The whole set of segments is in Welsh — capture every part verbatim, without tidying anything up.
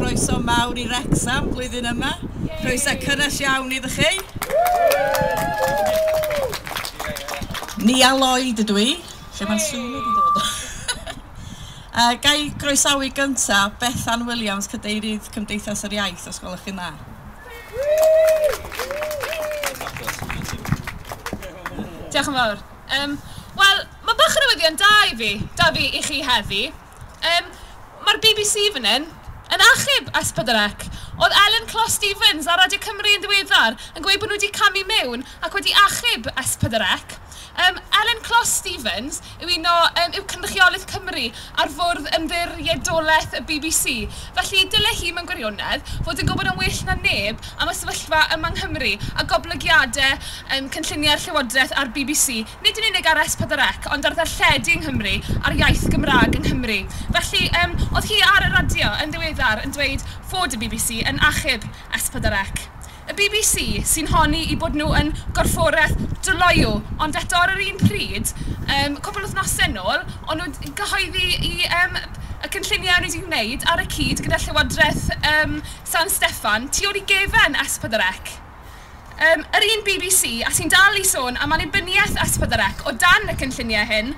Croeso mawr i Wrecsam blwyddyn yma. Croeso cynnes iawn iddo chi. Nia Lloyd ydw i. Lle mae'r sŵn wedi dod? Uh, ga i groesawu gyntaf Bethan Williams, Cadeirydd Cymdeithas yr Iaith, os gwelwch chi'n dda. Diolch yn fawr. Um, Wel, mae bach o newyddion da i fi, da fi i chi heddi. Um, Mae'r B B C fan hyn yn achub S pedwar C. Oedd Ellen Clos Stevens ar Radio Cymru yn ddiweddar yn gweud bod nhw wedi camu mewn ac wedi achub S pedwar C. Um, Ellen Clos Stevens yw un o um, yw cynrychiolydd Cymru ar fwrdd ymddiriedolaeth y B B C. Felly dyle hi mewn gwirionedd fod yn gwybod yn well na neb am y sefyllfa yma yng Nghymru a goblygiadau um, cynlluniau'r Llywodraeth a'r B B C, nid yn unig ar S pedwar C, ond ar ddarlledu yng Nghymru a'r iaith Gymraeg yng Nghymru. Felly um, oedd hi ar y radio yn ddiweddar yn dweud fod y B B C yn achub S pedwar C. Y B B C sy'n honni i bod nhw yn gorfforaeth dryloyw, ond eto ar yr un pryd, um, cwpl wythnosau nôl, o'n nhw'n gyhoeddi i um, y cynlluniau o'n nhw wedi gwneud ar y cyd gyda Llywodraeth um, San Steffan tu ôl i gefen S pedwar C. Um, yr un B B C, a sy'n dal i sôn am annibyniaeth S pedwar C o dan y cynlluniau hyn,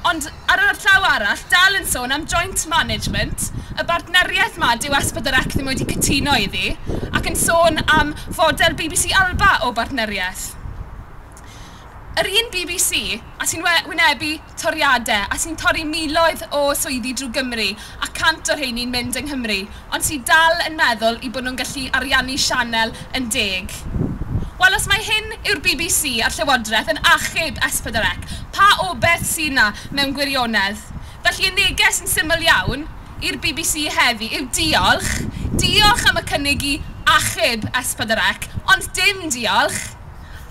ond ar yr llaw arall, dal yn sôn am joint management, y bartneriaeth ma dyw S pedwar C ddim wedi cytuno iddi, ac yn sôn am fodel B B C Alba o bartneriaeth. Yr un B B C, a sy'n wynebu toriadau, a sy'n torri miloedd o swyddi drwy Gymru, a cant o'r rheini'n mynd yng Nghymru, ond sy'n dal yn meddwl i bod nhw'n gallu ariannu sianel yn deg. Wel, os mae hyn yw'r B B C a'r Llywodraeth yn achub S pedwar C, pa obaith sy'n na mewn gwirionedd? Felly y neges yn syml iawn i'r B B C heddi yw diolch. Diolch am y cynnig i achub S pedwar C, ond dim diolch.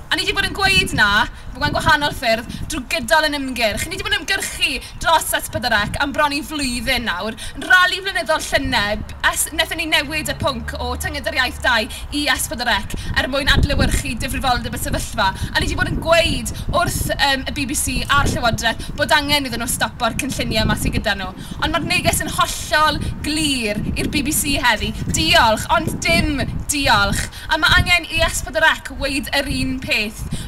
A ni wedi bod yn gweud na, mewn gwahanol ffyrdd, drwy gydol yn ymgyrch. Ni wedi bod yn ymgyrchu dros S pedwar C am bron i flwyddyn nawr. Yn rali flynyddol llynedd, wnaethon ni newid y pwnc o Tynged yr Iaith dau i S pedwar C er mwyn adlewyrchu difrifoldeb y sefyllfa. A ni wedi bod yn gweud wrth um, y B B C a'r Llywodraeth bod angen iddyn nhw stopo'r cynlluniau yma sydd gyda nhw. Ond mae'r neges yn hollol glir i'r B B C heddi. Diolch, ond dim diolch. A mae angen i S pedwar C weud yr un peth.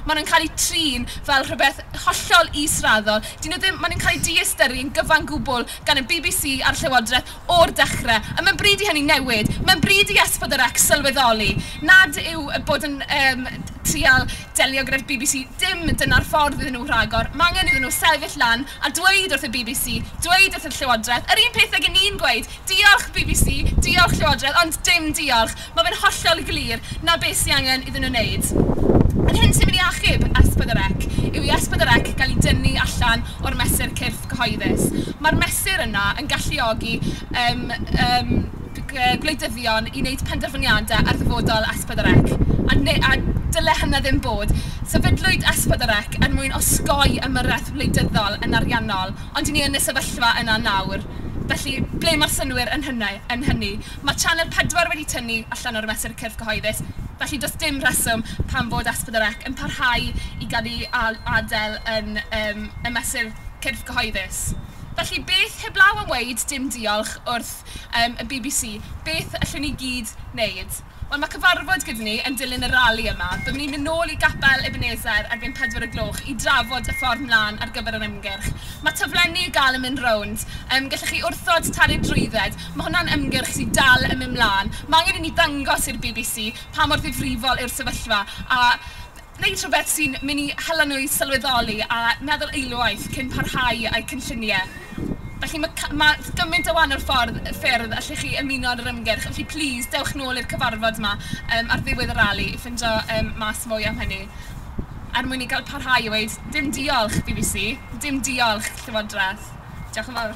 Maen nhw'n cael eu trin fel rhywbeth hollol israddol. Dyn nhw ddim, maen nhw'n cael eu diystyru yn gyfan gwbl gan y B B C a'r Llywodraeth o'r dechrau. A mae'n bryd i hynny newid. Mae'n bryd i S pedwar C sylweddoli nad yw bod yn um, trial delio gyda'r B B C, dim dyna'r ffordd iddyn nhw rhagor. Mae angen iddyn nhw sefyll lan a dweud wrth y B B C, dweud wrth y Llywodraeth, yr un peth ag ni'n gweud, diolch B B C, diolch Llywodraeth, ond dim diolch. Mae fe'n hollol glir na beth sy'n angen iddyn nhw wneud. Yr hyn sy'n mynd i achub S pedwar C yw i S pedwar C gael ei dynnu allan o'r mesur cyrff cyhoeddus. Mae'r mesur yna yn galluogi um, um, gwleidyddion i wneud penderfyniadau ar ddyfodol S pedwar C. A, ne, a dyle hynna ddim bod. Sefydlwyd S pedwar C er mwyn osgoi ymyrraeth wleidyddol yn ariannol, ond i ni yn y sefyllfa yna nawr. Felly, ble mae'r synnwyr yn hynny? Yn hynny? Mae Channel pedwar wedi tynnu allan o'r mesur cyrff cyhoeddus, felly does dim rheswm pam fod S pedwar C yn parhau i gael ei adael yn um, y mesur cyrff cyhoeddus. Felly, beth heblaw am weud dim diolch wrth um, y B B C, beth allwn ni gyd wneud? Wel, mae cyfarfod gyda ni yn dilyn y rali yma. Byddwn ni'n mynd nôl i Gapel Ebenezer erbyn pedwar y gloch i drafod y ffordd mlaen ar gyfer yr ymgyrch. Mae taflenni i gael yn mynd rownd. Um, gallwch chi wrthod talu'r drwydded. Mae hwnna'n ymgyrch sy'n dal yn mynd mlaen. Mae angen i ni ddangos i'r B B C pa mor ddifrifol yw'r sefyllfa a wneud rhywbeth sy'n mynd i hela nhw i sylweddoli a meddwl eilwaith cyn parhau a'u cynlluniau. Felly mae, mae gymaint o wahanol ffordd, ffyrdd allwch chi ymuno ar yr ymgyrch. Felly please, dewch nôl i'r cyfarfod yma um, ar ddiwedd y rali i ffindo um, mas mwy am hynny. Er mwyn i gael parhau i weud, dim diolch B B C, dim diolch Llywodraeth. Diolch yn fawr.